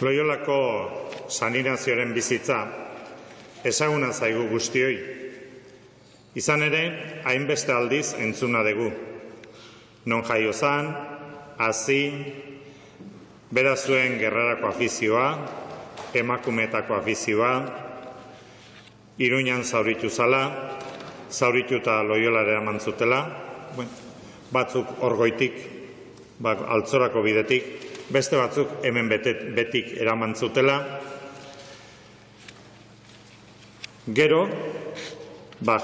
Loiolako San Ignazioren bizitza ezaguna zaigu guztioi. Izan ere, hainbeste aldiz entzuna dugu. Non jaio zan, hazi, bera zuen gerrarako afizioa, emakumeetako afizioa, Iruñan zauritu zala, zaurituta Loiolara eraman zutela, batzuk Orgoitik, Altzorako bidetik, beste batzuk hemen betik eraman zutela. Gero,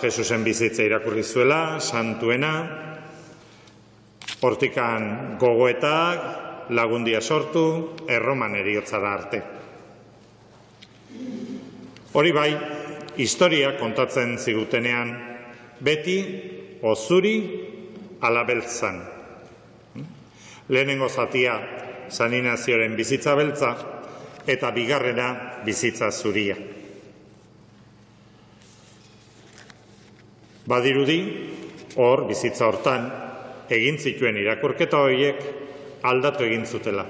Jesusen bizitza irakurri zuela, santuena, hortikan gogoetak, lagundia sortu, Erroman eriotzara arte. Hori bai, historia kontatzen zigutenean, beti ozuri alabeltzan. Lehenengo zatia San Ignazioren bizitza beltza eta bigarrena bizitza zuria. Badirudi, hor bizitza hortan, egin zituen irakurketa horiek aldatu egin zutela,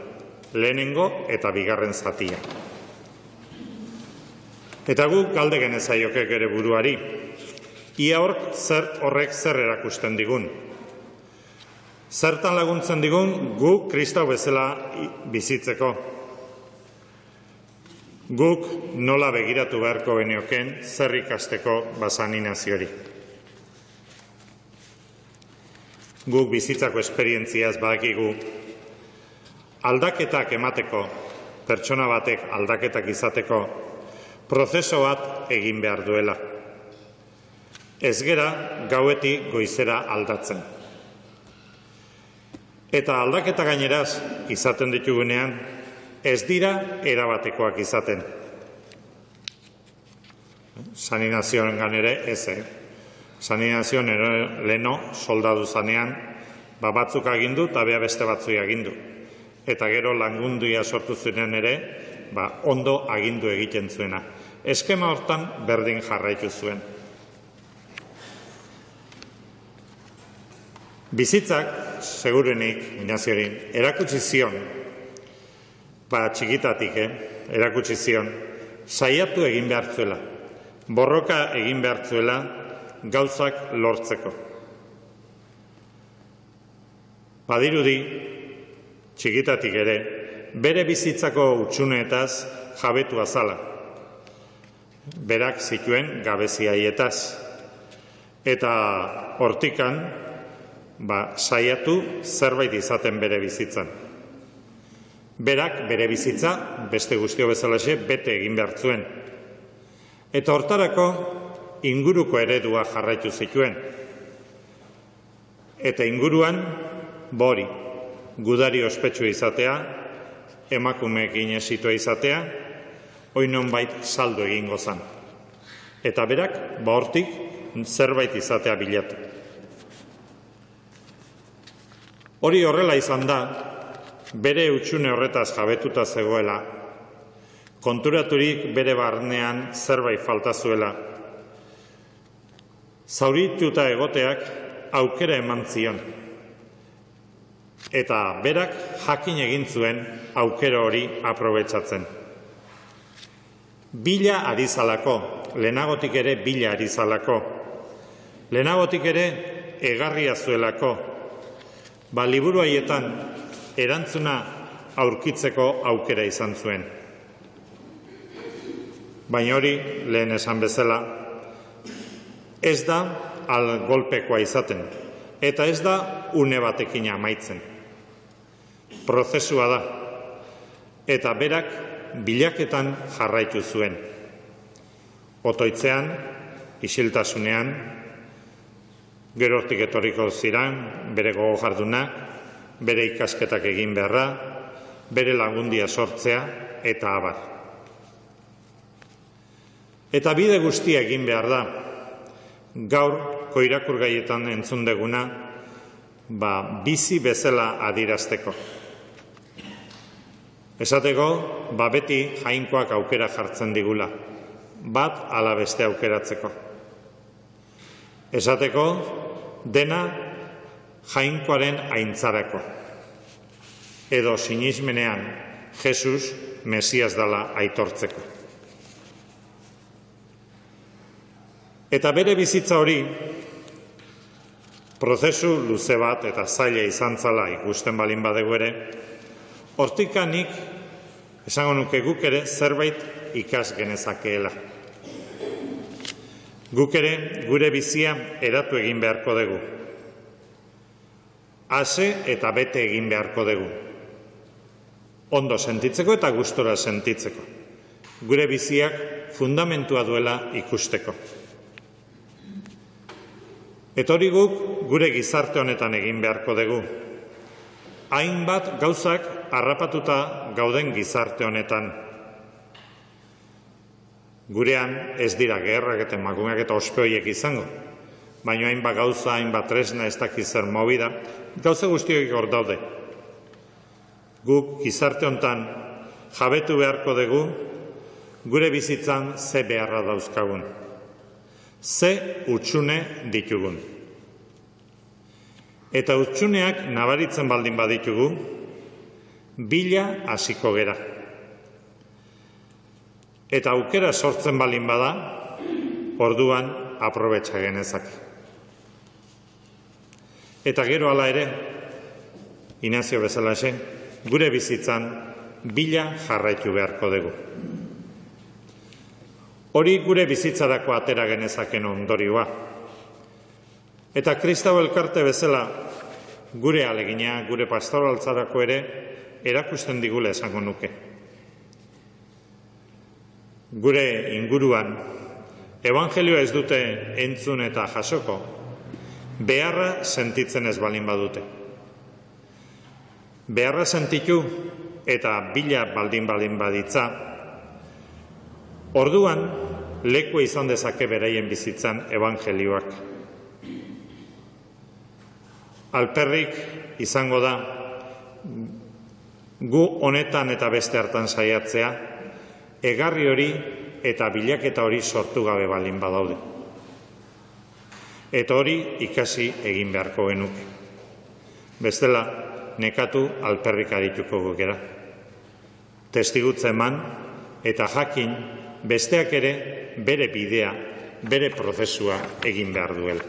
lehenengo eta bigarren zatia. Eta guk galde genezaiokek ere buruari, ia horrek zer erakusten digun. Zertan laguntzen digun guk Kristau bezala bizitzeko. Guk nola begiratu beharko genioken zer ikasteko San Ignaziori. Guk bizitzako esperientziaz badakigu aldaketak emateko, pertsona batek aldaketak izateko, prozeso bat egin behar duela. Ez gera gauetik goizera aldatzen. Eta aldaketa gaineraz izaten ditugunean, ez dira erabatekoak izaten. San Ignazioen ganere ez, San Ignazioen leno soldadu zanean, batzuk agindu eta beste batzui agindu. Eta gero lagunduia sortu zuenean ere, ondo agindu egiten zuena. Eskema hortan berdin jarraitu zuen. Bizitzak, segurenik, Ignaziorin, erakutsi zion, txikitatik, erakutsi zion, saiatu egin behar zuela, borroka egin behar zuela, gauzak lortzeko. Badirudi, txikitatik ere, bere bizitzako utxuneetaz jabetu azala. Berak zituen gabeziaietaz. Eta hortikan, saiatu zerbait izaten bere bizitzan. Berak bere bizitza, beste guztio bezalaxe, bete egin behar zuen. Eta hortarako inguruko eredua jarraitu zituen. Eta inguruan, bori, gudari ospetsu izatea, emakumeekin esitua izatea, oinon bait saldu egingo zan. Eta berak, hortik, zerbait izatea bilatu. Hori horrela izan da, bere utxune horretaz jabetuta zegoela, konturaturik bere barnean zerbait falta zuela. Zaurituta egoteak aukera eman zion. Eta berak jakin egin zuen aukera hori aprobetxatzen. Bila ari zalako, lehenagotik ere bila ari zalako. Lehenagotik ere egarria zuelako. Liburu haietan erantzuna aurkitzeko aukera izan zuen. Baina hori, lehen esan bezala, ez da golpekoa izaten, eta ez da une batekin amaitzen. Prozesua da, eta berak bilaketan jarraitu zuen. Otoitzean, isiltasunean, gero hortik etorriko ziran, bere gogo jardunak, bere ikasketak egin beharra, bere lagundia sortzea, eta abar. Eta bide guztia egin behar da, gaur koirakur gaietan entzun deguna, bizi bezala adirazteko. Esateko, beti jainkoak aukera jartzen digula, bat ala beste aukeratzeko. Esateko, dena jainkoaren aintzarako. Edo sinismenean Jesus Mesias dela aitortzeko. Eta bere bizitza hori, prozesu luze bat eta zaila izan zala ikusten balin badegu ere, hortikanik, esango nuke guk ere zerbait ikas genezakeela. Guk ere gure bizia eratu egin beharko dugu. Ase eta bete egin beharko dugu. Ondo sentitzeko eta gustora sentitzeko. Gure biziak fundamentua duela ikusteko. Eta hori guk gure gizarte honetan egin beharko dugu. Hainbat gauzak harrapatuta gauden gizarte honetan. Gurean ez dira gerrak eta emakumeak eta ospeoiek izango, baina hainbat gauza, hainbat tresna, ez dakiz zer movida, gauza guztiok hor daude. Guk gizarte honetan jabetu beharko dugu gure bizitzan ze beharra dauzkagun, ze hutsune ditugun. Eta hutsuneak nabaritzen baldin baditugu, bila hasiko gera. Eta aukera sortzen balin bada, orduan aprobetxa genezak. Eta gero hala ere, Inazio bezalaxe, gure bizitzan bila jarraitu beharko dugu. Hori gure bizitzarako atera genezaken ondorioa. Eta Kristau elkarte bezala, gure alegina, gure pastoraltzarako ere, erakusten digula esango nuke. Gure inguruan, evangelioa ez dute entzun eta jasoko, beharra sentitzen ez balin badute. Beharra sentitu eta bila baldin baditza, orduan lekua izan dezake beraien bizitzan evangelioak. Alperrik izango da, gu honetan eta beste hartan saiatzea, egarri hori eta bilaketa hori sortu gabe balin badaude. Eta hori ikasi egin beharko genuke. Bestela, nekatu alperrik arituko gukera. Testigutza eman eta jakin besteak ere bere bidea, bere prozesua egin behar duela.